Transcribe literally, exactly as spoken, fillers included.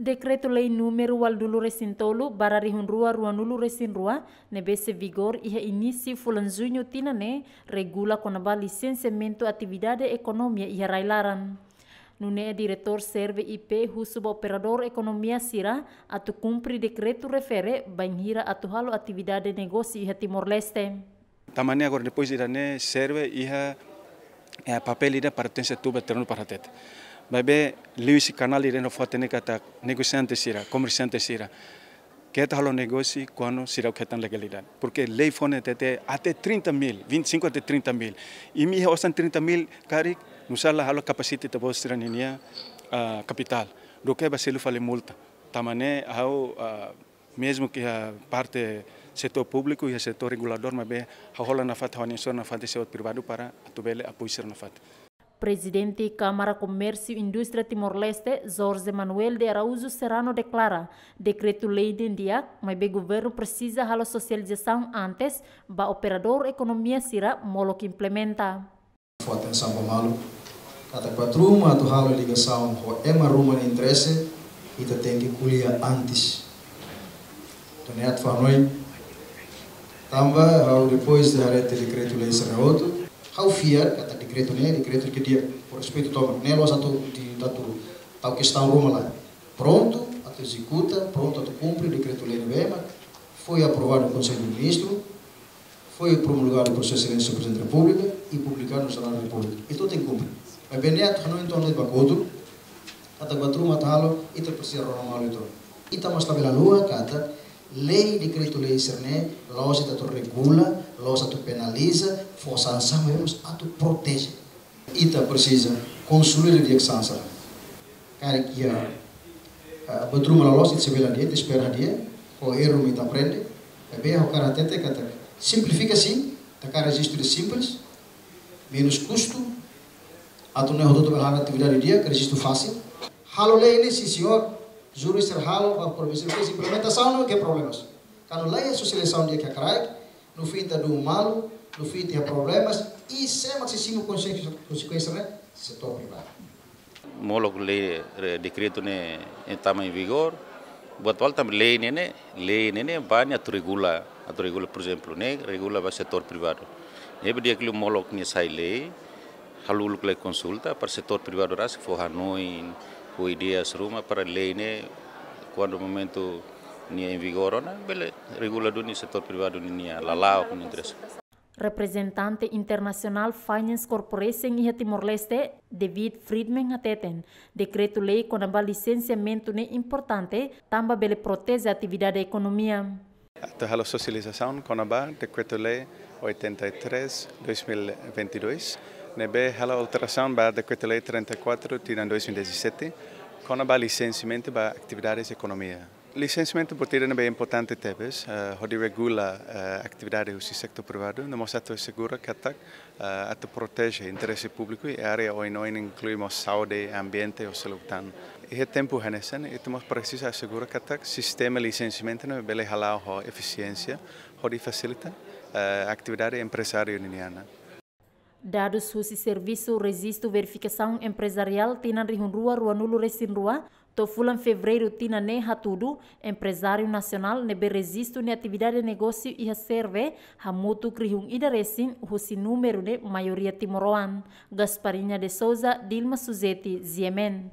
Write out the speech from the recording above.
Dekretu-Lei númeru ualunulu-resin-tolu barra rihun rua ruanulu-resin-rua, ne'ebé sei vigor iha inísiu fulan Juñu tinan ne'e, regula kona-ba lisensiamentu atividade ekonomia iha rai-laran. Nune'e Diretór SERVE I P husu ba operadór ekonomia sira atu kumpre dekretu refere bainhira atu halo atividade negósiu iha Timor-Leste. Tanba ne'e agora depois ida-ne'e SERVE iha, eh, papél ida pertense tuba terrenu para hatete. Maibé liuhusi kanál ida no fó hatene katak negosiante sira, komersiante sira keta halo negósiu kuandu sira hetan legalidade. Porque lei fó ne'e hatete até trinta mil, vinte e cinco até trinta mil. Imi iha osan trinta mil karik, nusá la halo kapasita ita-boot sira-ninia, ah, kapitál. Duké ba selu fali multa. Tanba ne'e ha'u, ah, mezmu ke iha parte setór públiku, iha setór reguladór, maibé ha'u hola nafatin, ha'u-nia esforsu nafatin, setór privadu para atu bele apoiu sira nafatin. Prezidente Kámara Komérsiu Indústria Timor-Leste, Jorge Manuel de Araújo Serrano deklara, dekretu-lei ne'e di'ak, maibé governu presiza halo sosializasaun antes ba operadór ekonomia sira molok implementa. Fó atensaun ba malu katak buat ruma atu halo ligasaun ho ema ruma nia interese, ita tenke ko'alia antes. Entaun ne'e atu fó hanoin. Tanba ha'u depois de haree tiha dekretu-lei sira hotu, ha'u fiar katak dekretu ne'e dekretu ke di'ak, ho respeitu tomak. Ne'e la'ós atu di atu tau kestaun ruma, lae. Prontu atu ezekuta, prontu atu kumpre dekretu-lei ne'ebé mak foi aprovadu no Konsellu de Ministrus, foi promulgadu por Sua Exelénsia Prezidente da Repúblika i publikadu no Jornál da Repúblika. Entaun tenke kumpre. Maibé ne'e atu hanoin entaun de'it ba kotuk, katak buat ruma atu halo, ita presiza rona malu uitoan. Ita mós labele haluha katak lei, dekretu-lei sira-ne'e la'ós ita atu regula, la'ós atu penaliza, fó sansaun, maibé mós atu proteje. Ita presiza konsolida di'ak sansaun. Karik iha, ah, buat ruma la loos, ita sei bele hadi'a, ita espera hadi'a, ho erru mak ita aprende. Maibé ha'u hakarak hatete katak simplifika sin, ita hakarak rejistu ida simples, menus kustu, atu nune'e hotu-hotu bele halo atividade di'ak, rejistu fasil. Halo lei ne'e, sin señór, jurista halo, ba provinsiál, implementasaun ne'e ke problemas. Kuandu la iha sosializasaun di'ak iha rai, no fim ita duun malu, no fim ita iha problemas, i sé mak sei simu konsekuénsia, konsekuénsia ne'e, setór privadu. Molok lei, re-, dekretu ne'e, eh, tama em vigor, buat atuál tanba lei ne'e, ne'e, lei ne'e, ne'e, ba ne'e atu regula, atu regula, por ezemplu, ne'e, regula ba setór privadu. Ne'ebé di'ak liu molok ne'e sai lei, halo uluk lai konsulta para setór privadu rasik fó hanoin, fó ideias ruma para lei ne'e, kuandu momentu nia em vigor ona, bele regula duni setór privadu ninia lala'ok, ninia interese. Reprezentante International Finance Corporation iha Timor-Leste, David Friedman hateten, dekretu-lei kona-ba lisensiamentu ne'e importante, tanba bele proteje atividade ekonomia. Atu halo sosializasaun kona-ba dekretu-lei oitenta e três, dois mil e vinte e dois, ne'ebé halo alterasaun ba dekretu-lei trinta e quatro, tinan dois mil e dezassete, kona-ba lisensiamentu ba atividades ekonomia. Lisensiamentu buat ida ne'ebé importante tebes, eh, hodi regula, eh, atividade husi setór privadu, no mós atu asegura katak, eh, atu proteje interese públiku iha área oin-oin, inklui mós saúde, ambiente no seluk tan. Iha tempu hanesan, ita mós presiza asegura katak sistema lisensiamentu ne'e bele hala'o ho efisiénsia, hodi fasilita, eh, atividade emprezáriu ninian. Dadus husi Servisu Rejistu Verifikasaun Emprezariál tinan rihun rua ruanulu-resin-rua, to'o fulan Fevereiru tinan ne'e hatudu, emprezáriu nasionál ne'ebé rejistu nia atividade negósiu iha SERVE hamutuk rihun ida resin, husi númeru ne'e maioria timoroan. Gasparinha de Souza, Dilma Suzeti, G M N.